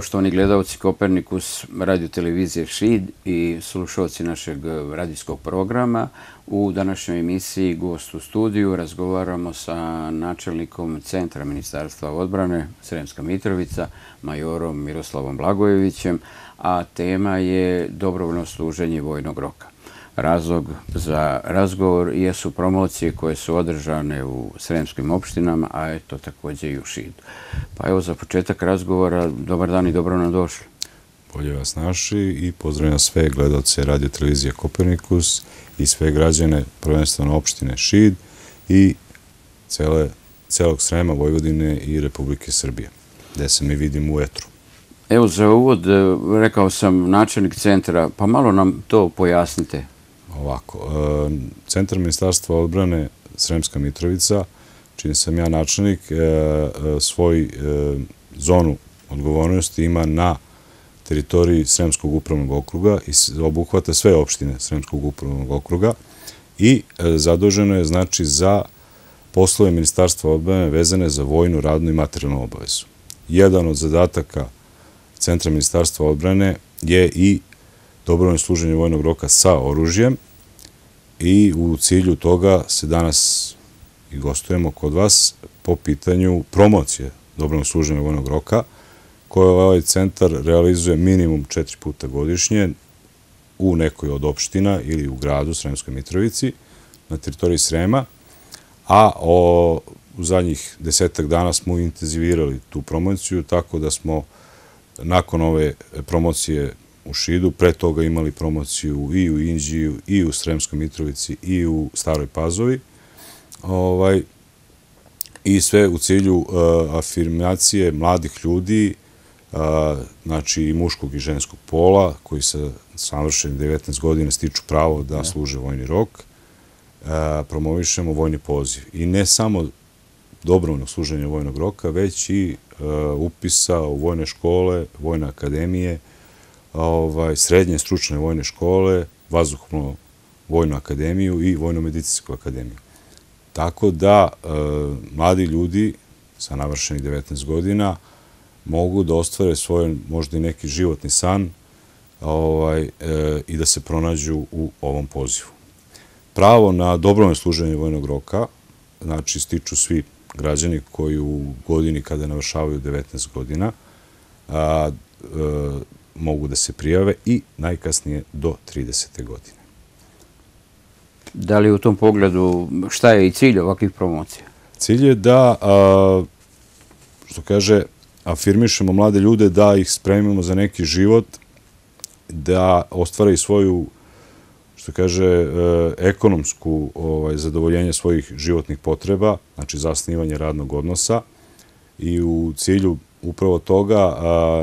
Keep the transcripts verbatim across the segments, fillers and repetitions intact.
poštovani gledalci Kopernikus radiotelevizije Šid i slušalci našeg radijskog programa. U današnjoj emisiji Gost u studiju razgovaramo sa načelnikom Centra Ministarstva odbrane Sremska Mitrovica, majorom Miroslavom Blagojevićem, a tema je dobrovoljno služenje vojnog roka. Razlog za razgovor jesu promocije koje su održane u sremskim opštinama, a eto također i u Šidu. Pa evo za početak razgovora, dobar dan i dobro nam došli. Bolje vas naši i pozdravljam sve gledalce radio televizije Kopernikus i sve građane, prvenstveno opštine Šid i celog Srema, Vojvodine i Republike Srbije, gde se mi vidimo u etru. Evo za uvod, rekao sam načelnik centra, pa malo nam to pojasnite. Ovako, Centar Ministarstva odbrane Sremska Mitrovica, čini sam ja načelnik, svoj zonu odgovornosti ima na teritoriji Sremskog upravnog okruga i obuhvata sve opštine Sremskog upravnog okruga i zaduženo je znači za poslove Ministarstva odbrane vezane za vojnu, radnu i materijalnu obavezu. Jedan od zadataka Centra Ministarstva odbrane je i dobrovoljno služenje vojnog roka sa oružjem i u cilju toga se danas i gostujemo kod vas po pitanju promocije dobrovoljnog služenja vojnog roka koje ovaj centar realizuje minimum četiri puta godišnje u nekoj od opština ili u gradu Sremskoj Mitrovici na teritoriji Srema, a u zadnjih desetak dana smo intenzivirali tu promociju tako da smo nakon ove promocije u Šidu, pre toga imali promociju i u Inđiju, i u Sremskoj Mitrovici, i u Staroj Pazovi. I sve u cilju afirmacije mladih ljudi, znači i muškog i ženskog pola, koji sa navršenih devetnaest godina stiču pravo da služe vojni rok, promovišemo vojni poziv. I ne samo dobrovoljnog služenja vojnog roka, već i upisa u vojne škole, vojne akademije, srednje stručne vojne škole, vazduhoplovnu vojnu akademiju i vojno-medicinsku akademiju. Tako da mladi ljudi sa navršenih devetnaest godina mogu da ostvare svoj možda i neki životni san i da se pronađu u ovom pozivu. Pravo na dobrovoljno služenje vojnog roka, znači stiču svi građani koji u godini kada navršavaju devetnaest godina mogu da se prijave i najkasnije do tridesete godine. Da li u tom pogledu šta je i cilj ovakvih promocija? Cilj je da, što kaže, afirmišemo mlade ljude, da ih spremimo za neki život, da ostvaraju svoju, što kaže, ekonomsku zadovoljenje svojih životnih potreba, znači zasnivanje radnog odnosa i u cilju upravo toga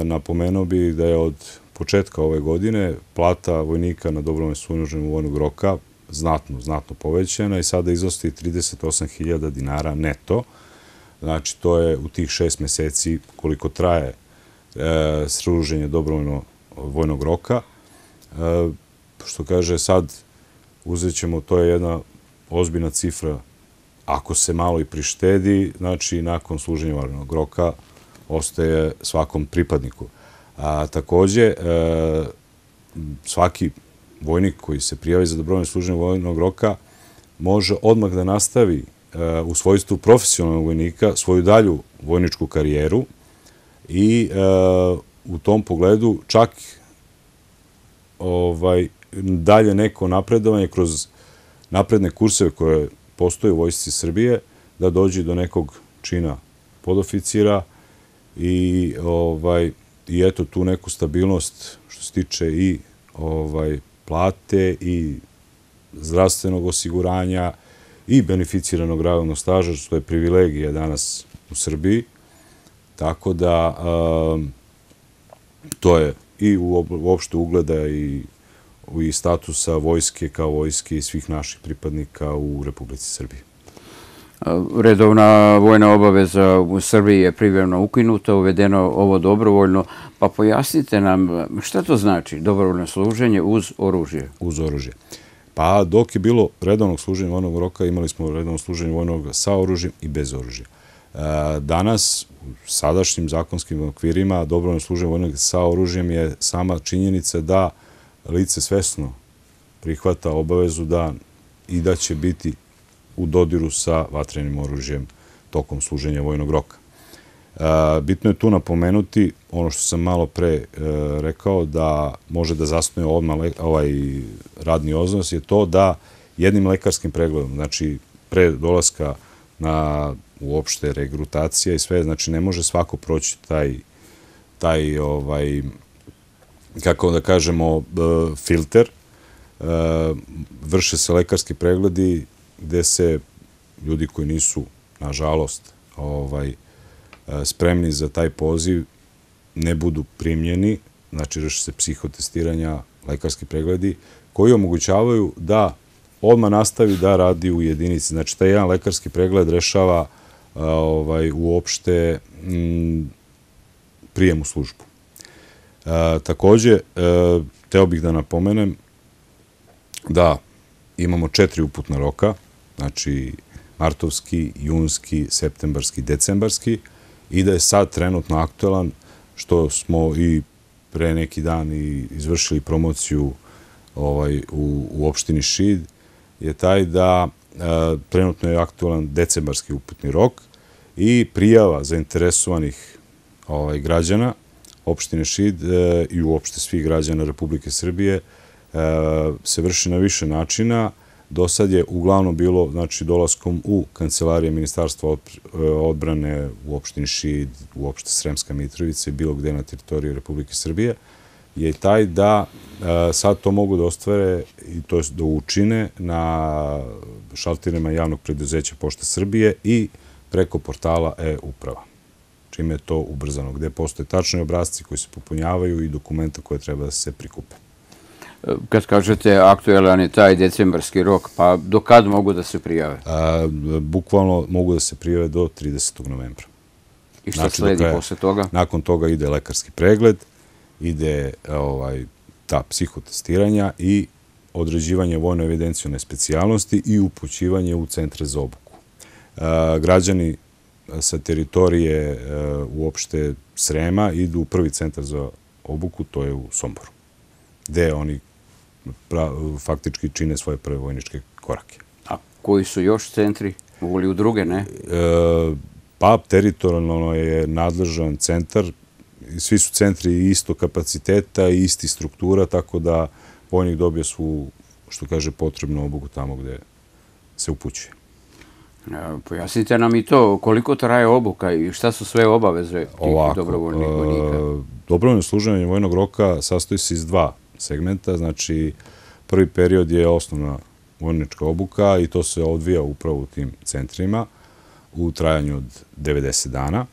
napomenuo bi da je od početka ove godine plata vojnika na dobrovoljno služenje vojnog roka znatno, znatno povećana i sada iznosi trideset osam hiljada dinara neto. Znači, to je u tih šest meseci koliko traje služenje dobrovoljno vojnog roka. Što kaže, sad uzet ćemo, to je jedna ozbiljna cifra, ako se malo i prištedi, znači nakon služenja vojnog roka ostaje svakom pripadniku. Također, svaki vojnik koji se prijavi za dobrovoljno služenje vojnog roka može odmah da nastavi u svojstvu profesionalnog vojnika svoju dalju vojničku karijeru i u tom pogledu čak dalje neko napredovanje kroz napredne kurseve koje postoje u Vojsci Srbije da dođe do nekog čina podoficira i eto tu neku stabilnost što se tiče i plate i zdravstvenog osiguranja i beneficiranog radnog staža, što je privilegija danas u Srbiji. Tako da to je i uopšte ugleda i statusa vojske kao vojske i svih naših pripadnika u Republici Srbiji. Redovna vojna obaveza u Srbiji je privremeno ukinuta, uvedeno ovo dobrovoljno, pa pojasnite nam šta to znači dobrovoljno služenje uz oružje? Uz oružje. Pa dok je bilo redovnog služenja vojnog roka, imali smo redovno služenje vojnog sa oružjem i bez oružja. Danas, u sadašnjim zakonskim okvirima, dobrovoljno služenje vojnog sa oružjem je sama činjenica da lice svesno prihvata obavezu da i da će biti u dodiru sa vatrenim oružjem tokom služenja vojnog roka. Bitno je tu napomenuti ono što sam malo pre rekao, da može da zasnuje odmah ovaj radni odnos, je to da jednim lekarskim pregledom, znači pre dolaska na uopšte regrutacija i sve, znači ne može svako proći taj, taj ovaj, kako da kažemo, filter. Vrše se lekarski pregledi gde se ljudi koji nisu, nažalost, ovaj, spremni za taj poziv ne budu primljeni, znači vrše se psihotestiranja, lekarski pregledi, koji omogućavaju da odmah nastavi da radi u jedinici. Znači, taj jedan lekarski pregled rešava ovaj, uopšte m, prijem u službu. E, takođe, e, teo bih da napomenem da imamo četiri uputna roka, znači martovski, junski, septembarski, decembarski, i da je sad trenutno aktualan, što smo i pre neki dan i izvršili promociju ovaj, u, u opštini Šid, je taj da e, trenutno je aktualan decembarski uputni rok i prijava zainteresovanih ovaj, građana opštine Šid e, i uopšte svih građana Republike Srbije e, se vrši na više načina. Do sad je uglavnom bilo, znači, dolaskom u kancelarije Ministarstva odbrane u opštini Šid, u opšte Sremska Mitrovica i bilo gde na teritoriji Republike Srbije, je taj da e, sad to mogu da ostvare i to je da učine na šalterima javnog preduzeća Pošta Srbije i preko portala e-uprava, čime je to ubrzano, gde postoje tačni obrazci koji se popunjavaju i dokumenta koje treba da se prikupe. Kad kažete aktualan je taj decembarski rok, pa do kad mogu da se prijave? A, bukvalno mogu da se prijave do tridesetog novembra. I šta znači, sledi posle toga? Nakon toga ide lekarski pregled, ide ovaj, ta psihotestiranja i određivanje vojno evidencijone specijalnosti i upućivanje u centre za obuku. A, građani sa teritorije a, uopšte Srema idu u prvi centar za obuku, to je u Somboru, gde oni pra, faktički čine svoje prve vojničke korake. A koji su još centri? Mogu li u druge, ne? E, pa, teritorijalno je nadležan centar. Svi su centri isto kapaciteta i isti struktura, tako da vojnik dobije svu, što kaže, potrebnu obuku tamo gde se upućuje. E, pojasnite nam i to, koliko traje obuka i šta su sve obaveze tih Ovako, dobrovoljnih vojnika? E, dobrovoljno služenje vojnog roka sastoji se iz dva segmenta. Znači, prvi period je osnovna vojnička obuka i to se odvija upravo u tim centrima u trajanju od devedeset dana.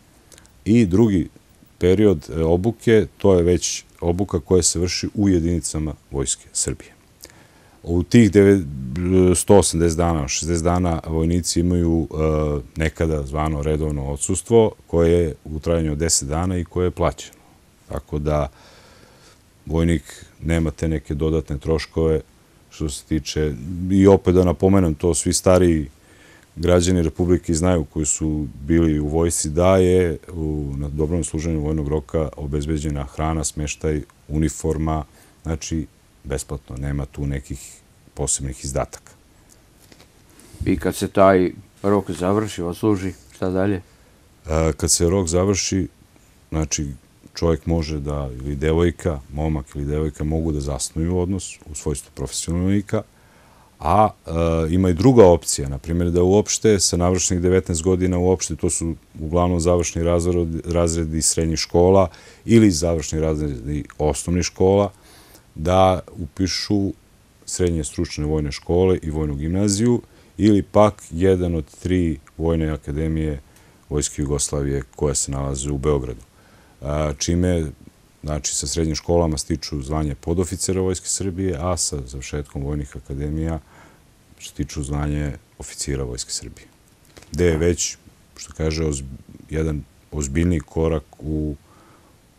I drugi period obuke, to je već obuka koja se vrši u jedinicama Vojske Srbije. U tih sto osamdeset dana, šezdeset dana vojnici imaju nekada zvano redovno odsustvo koje je u trajanju od deset dana i koje je plaćeno. Tako da vojnik nema te neke dodatne troškove što se tiče, i opet da napomenem to, svi stariji građani Republike znaju koji su bili u vojsci, da je u, na dobrovoljnom služenju vojnog roka obezbeđena hrana, smeštaj, uniforma, znači besplatno, nema tu nekih posebnih izdataka. I kad se taj rok završi, odsluži, šta dalje? A, kad se rok završi, znači čovjek može da, ili devojka, momak ili devojka mogu da zasnuju odnos u svojstvu profesionalnika, a e, ima i druga opcija, na primjer da uopšte sa navršenih devetnaest godina uopšte, to su uglavnom završni razredi, razredi srednjih škola ili završni razredi osnovnih škola, da upišu srednje stručne vojne škole i vojnu gimnaziju ili pak jedan od tri vojne akademije Vojske Jugoslavije koja se nalaze u Beogradu. Čime, znači, sa srednjim školama stiču zvanje podoficera Vojske Srbije, a sa završetkom vojnih akademija stiču zvanje oficira Vojske Srbije. Gde je već, što kaže, jedan ozbiljniji korak u,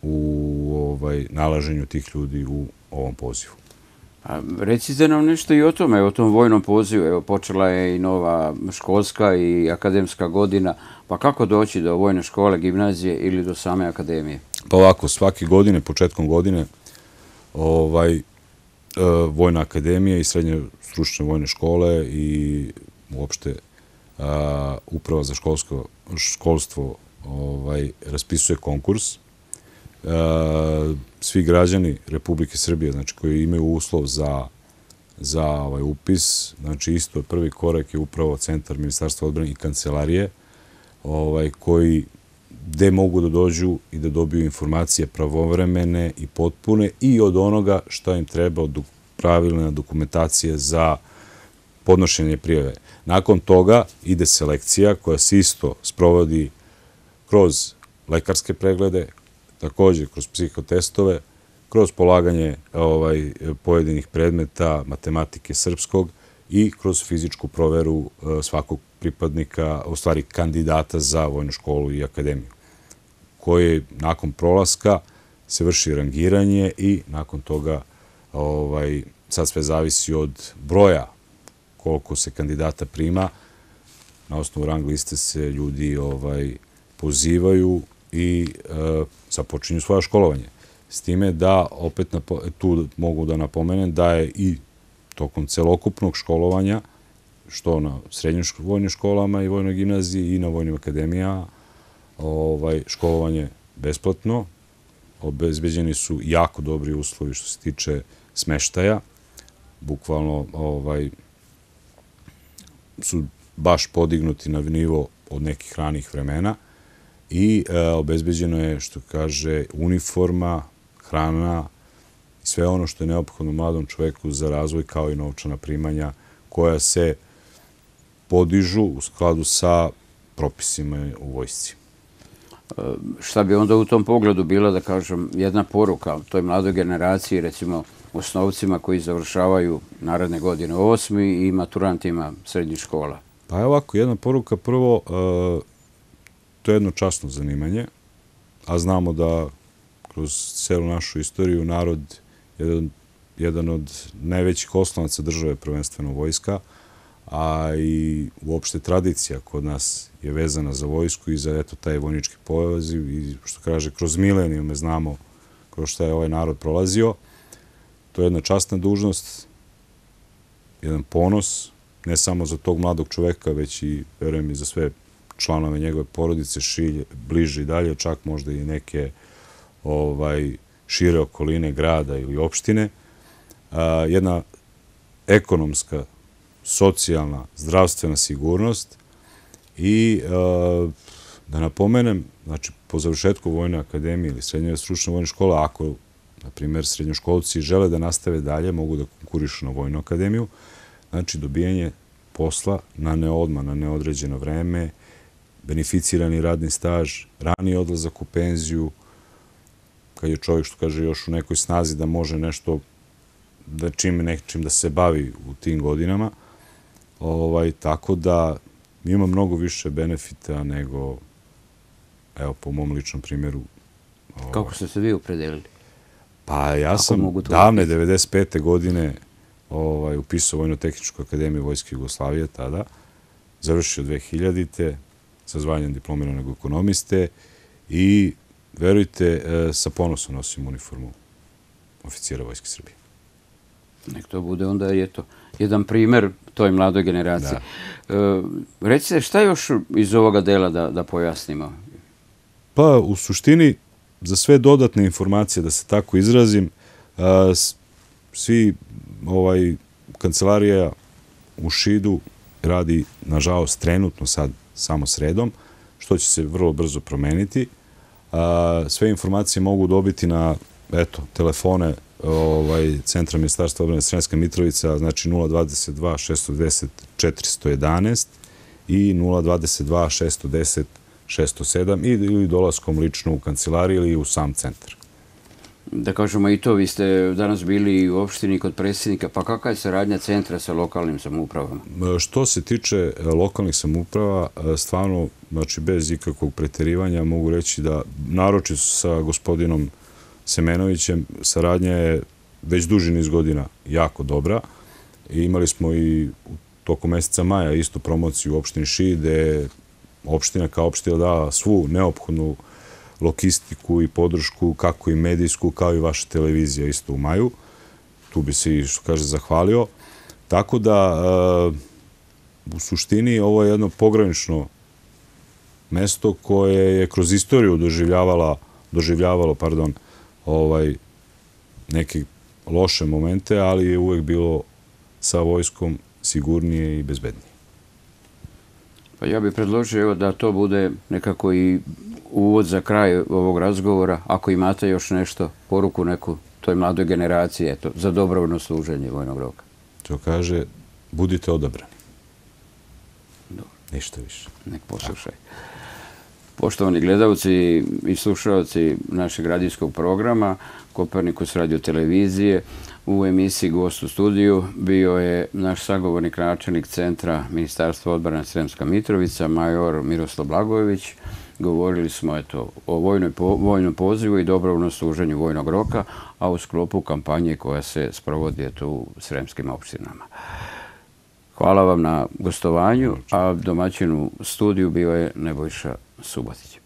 u ovaj, nalaženju tih ljudi u ovom pozivu. Recite nam nešto i o tome, o tom vojnom pozivu. Evo, počela je i nova školska i akademska godina. Pa kako doći do vojne škole, gimnazije ili do same akademije? Pa ovako, svake godine, početkom godine, ovaj, Vojna akademija i srednje stručne vojne škole i uopšte Uprava za školstvo ovaj, raspisuje konkurs. Svi građani Republike Srbije, znači koji imaju uslov za, za ovaj, upis, znači isto prvi korak je upravo Centar Ministarstva odbrane i kancelarije, ovaj, koji gde mogu da dođu i da dobiju informacije pravovremene i potpune i od onoga što im treba od pravilne dokumentacije za podnošenje prijave. Nakon toga ide selekcija koja se isto sprovodi kroz lekarske preglede, također kroz psihotestove, kroz polaganje ovaj, pojedinih predmeta matematike srpskog i kroz fizičku proveru svakog pripadnika, u stvari kandidata za vojnu školu i akademiju, koje nakon prolaska se vrši rangiranje i nakon toga ovaj, sad sve zavisi od broja koliko se kandidata prima. Na osnovu rang liste se ljudi ovaj, pozivaju i e, započinju svoje školovanje. S time da, opet tu mogu da napomenem, da je i tokom celokupnog školovanja, što na srednjim vojnim školama i vojnoj gimnaziji i na vojnim akademijama, ovaj, školovanje besplatno. Obezbeđeni su jako dobri uslovi što se tiče smeštaja. Bukvalno ovaj, su baš podignuti na nivo od nekih ranih vremena i e, obezbeđeno je, što kaže, uniforma, hrana i sve ono što je neophodno mladom čoveku za razvoj, kao i novčana primanja koja se podižu u skladu sa propisima u vojsci. Šta bi onda u tom pogledu bila, da kažem, jedna poruka toj mladoj generaciji, recimo osnovcima koji završavaju naredne godine osmi i maturantima srednjih škola? Pa je ovako, jedna poruka. Prvo, to je jedno časno zanimanje, a znamo da kroz celu našu istoriju narod je jedan od najvećih oslonaca države, prvenstveno vojska, a i uopšte tradicija kod nas je vezana za vojsku i za eto taj vojnički poziv i što kaže, kroz milenijume znamo kroz šta je ovaj narod prolazio. To je jedna časna dužnost, jedan ponos, ne samo za tog mladog čoveka, već i, verujem, i za sve članove njegove porodice, šilje, bliže i dalje, čak možda i neke ovaj, šire okoline grada ili opštine. A, jedna ekonomska, socijalna, zdravstvena sigurnost i a, da napomenem, znači po završetku Vojne akademije ili srednje stručne vojne škole, ako na primjer srednjoškolci žele da nastave dalje, mogu da konkurišu na Vojnu akademiju, znači dobijanje posla na neodma, na neodređeno vreme, beneficirani radni staž, rani odlazak u penziju, kad je čovjek, što kaže, još u nekoj snazi da može nešto, da čim nečim da se bavi u tim godinama, ovaj, tako da ima mnogo više benefita nego, evo, po mom ličnom primjeru. Ovaj, kako ste se vi opredelili? Pa ja sam davne devedeset pete godine ovaj, upisao Vojno-tehničku akademiju Vojske Jugoslavije tada, završio dve hiljadite sa zvanjem diplomiranog ekonomiste i, verujte, sa ponosom nosim uniformu oficira Vojske Srbije. Nek to bude onda eto, jedan primer toj mladoj generaciji. E, recite, šta još iz ovoga dela da, da pojasnimo? Pa, u suštini, za sve dodatne informacije, da se tako izrazim, a, svi ovaj, kancelarija u Šidu radi, nažalost, trenutno sad samo sredom, što će se vrlo brzo promeniti. A, sve informacije mogu dobiti na, eto, telefone ovaj, Centra Ministarstva odbrane Sremska Mitrovica, znači nula dvadeset dva šesto deset četiristo jedanaest i nula dvadeset dva šesto deset šesto sedam ili dolaskom lično u kancelariju ili u sam centar. Da kažemo i to, vi ste danas bili u opštini kod predsjednika, pa kakva je saradnja centra sa lokalnim samoupravama? Što se tiče lokalnih samouprava, stvarno, znači bez ikakvog preterivanja, mogu reći da naročito sa gospodinom Semenovićem saradnja je već duži niz godina jako dobra. I imali smo i u toku meseca maja istu promociju u opštini Šid, gde je opština kao opština dala svu neophodnu logistiku i podršku, kako i medijsku, kao i vaša televizija isto u maju. Tu bi se i, što kaže, zahvalio. Tako da, u suštini, ovo je jedno pogranično mesto koje je kroz istoriju doživljavalo, doživljavalo, pardon, ovaj, neke loše momente, ali je uvek bilo sa vojskom sigurnije i bezbednije. Pa ja bih predložio da to bude nekako i uvod za kraj ovog razgovora. Ako imate još nešto, poruku neku toj mladoj generaciji, eto, za dobrovoljno služenje vojnog roka. To kaže, budite odabrani. Ništa više. Nek poslušaj. Poštovani gledalci i slušalci našeg radijskog programa Kopernikus radio televizije, u emisiji Gost u studiju bio je naš sagovornik, načelnik Centra Ministarstva odbrane Sremska Mitrovica, major Miroslav Blagojević. Govorili smo eto, o vojnoj, vojnom pozivu i dobrovoljnom služenju vojnog roka, a u sklopu kampanje koja se sprovodi eto, u sremskim opštinama. Hvala vam na gostovanju, a domaćin u studiju bio je Nebojša Subotić.